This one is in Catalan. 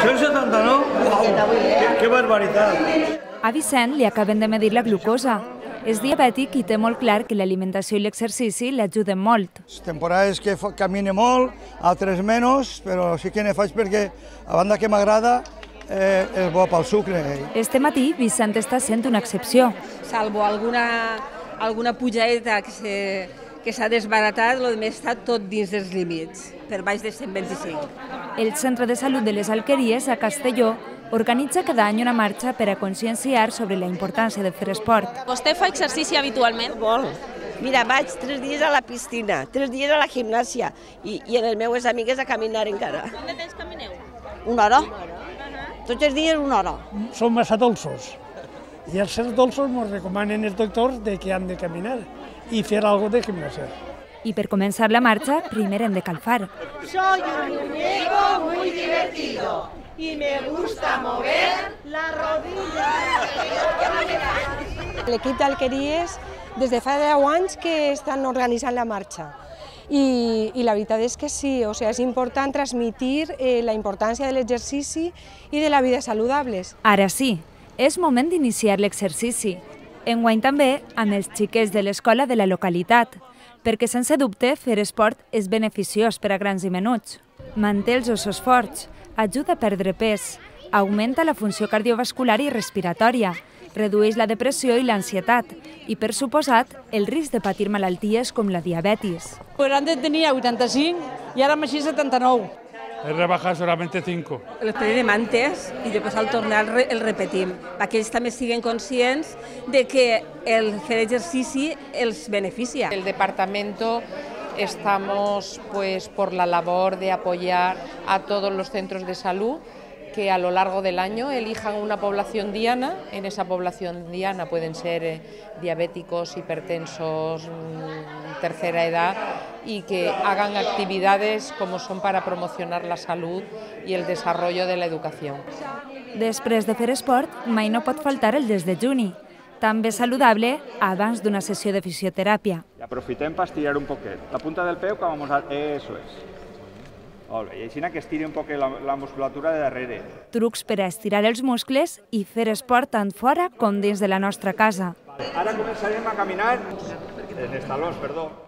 179? Que barbaritat! A Vicent li acaben de medir la glucosa. És diabètic i té molt clar que l'alimentació i l'exercici l'ajuden molt. Temporades que camine molt, altres menys, però sí que ne faig perquè, a banda que m'agrada, és bo pel sucre. Este matí, Vicent està sent una excepció. Salvo alguna pujadeta que s'ha desbaratat, el més està tot dins dels límits, per baix de 125. El Centre de Salut de les Alqueries, a Castelló, organitza cada any una marxa per a conscienciar sobre la importància de fer esport. Vostè fa exercici habitualment? Molt. Mira, vaig 3 dies a la piscina, 3 dies a la gimnàsia i en les meves amigues a caminar encara. Quant de temps camineu? 1 hora. Tots els dies 1 hora. Són massa dolços i els ser dolços ens recomanen els doctors que han de caminar i fer alguna cosa de gimnàsia. I per començar la marxa, primer hem de calfar. Soy un muñeco muy divertido y me gusta mover la rodilla. L'equip d'Alqueries des de fa 10 anys que estan organitzant la marxa. I la veritat és que sí, és important transmetre la importància de l'exercici i de la vida saludables. Ara sí, és moment d'iniciar l'exercici. Enguany també amb els xiquets de l'escola de la localitat, perquè sense dubte fer esport és beneficiós per a grans i menuts. Manté els ossos forts, ajuda a perdre pes, augmenta la funció cardiovascular i respiratòria, redueix la depressió i l'ansietat i, per suposat, el risc de patir malalties com la diabetis. Antes tenía 85 y ahora me 79. He rebajado solamente 5. L'estudi de mantes i després al tornar el repetim, perquè ells també siguin conscients de que el fer exercici els beneficia. El departamento estamos por la labor de apoyar a todos los centros de salud que a lo largo del año elijan una población diana. En esa población diana pueden ser diabéticos, hipertensos, tercera edad, y que hagan actividades como son para promocionar la salud y el desarrollo de la educación. Després de fer esport, mai no pot faltar el desdejuni, també saludable abans d'una sessió de fisioteràpia. Aprofitem per estirar un poquet. La punta del peu que vamos a... Eso es. Molt bé, i així que estiri un poc la musculatura de darrere. Trucs per a estirar els muscles i fer esport tant fora com dins de la nostra casa. Ara començarem a caminar en els talons, perdó.